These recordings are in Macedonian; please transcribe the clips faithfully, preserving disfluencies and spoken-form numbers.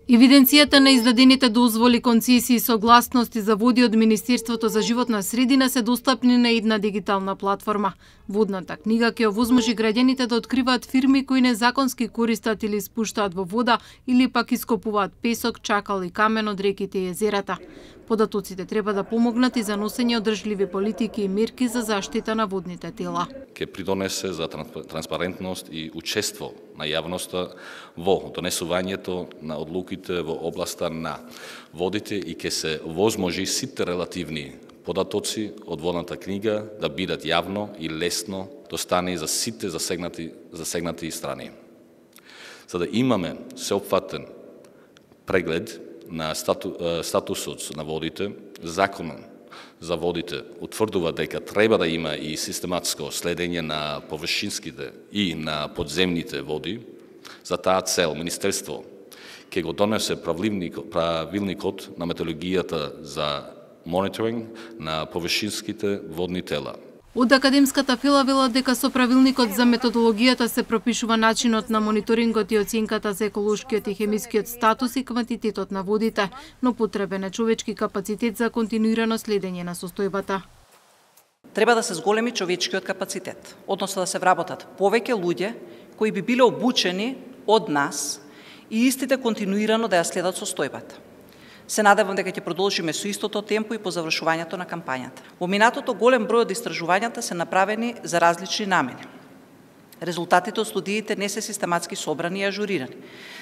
Евиденцијата на издадените дозволи, концесии и согласности за води од Министерството за животна средина се достапни на една дигитална платформа. Водната книга ќе овозможи граѓаните да откриваат фирми кои незаконски користат или спуштаат во вода или пак ископуваат песок, чакал и камен од реките и езерата. Податоците треба да помогнат и за носење одржливи политики и мерки за заштита на водните тела. Ке придонесе за транспарентност и учество на јавноста во донесувањето на одлуките во областа на водите и ке се возможи сите релативни податоци од водната книга да бидат јавно и лесно достани за сите засегнати, засегнати страни. За да имаме сеопфатен преглед на стату, статусот на водите, законот за водите утврдува дека треба да има и систематско следење на површинските и на подземните води. За таа цел Министерство ќе го донесе правилникот на методологијата за мониторинг на површинските водни тела. Од академската фила велат дека со правилникот за методологијата се пропишува начинот на мониторингот и оценката за еколошкиот и хемискиот статус и квантитетот на водите, но потребен е човечки капацитет за континуирано следење на состојбата. Треба да се зголеми човечкиот капацитет, односно да се вработат повеќе луѓе кои би биле обучени од нас и истите континуирано да ја следат состојбата. Се надевам дека ќе продолжиме со истото темпо и по завршувањето на кампањата. Во минатото голем број од истражувањата се направени за различни намени. Резултатите од студиите не се систематски собрани и ажурирани.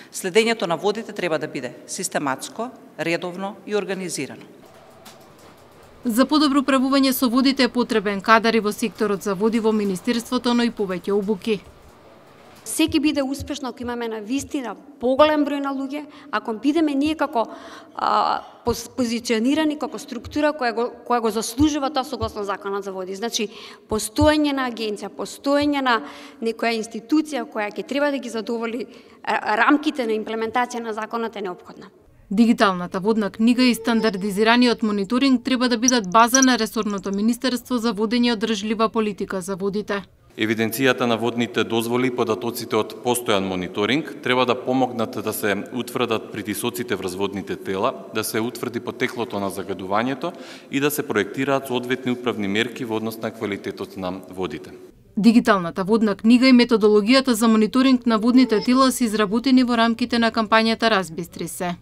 Следењето на водите треба да биде систематско, редовно и организирано. За подобро управување со водите е потребен кадар и во секторот за води во Министерството, но и повеќе обуки. Секи биде успешно ако имаме на вистина поголем број на луѓе, ако бидеме ние како а, позиционирани како структура која го, која го заслужува тоа согласно законот за води. Значи, постоење на агенција, постоење на некоја институција која ќе треба да ги задоволи рамките на имплементација на законот е неопходна. Дигиталната водна книга и стандардизираниот мониторинг треба да бидат база на ресорното Министерство за водење и одржлива политика за водите. Евиденцијата на водните дозволи и податоците од постојан мониторинг треба да помогнат да се утврдат притисоците врз водните тела, да се утврди потеклото на загадувањето и да се проектираат соодветни управни мерки во однос на квалитетот на водите. Дигиталната водна книга и методологијата за мониторинг на водните тела се изработени во рамките на кампањата Разбистри се.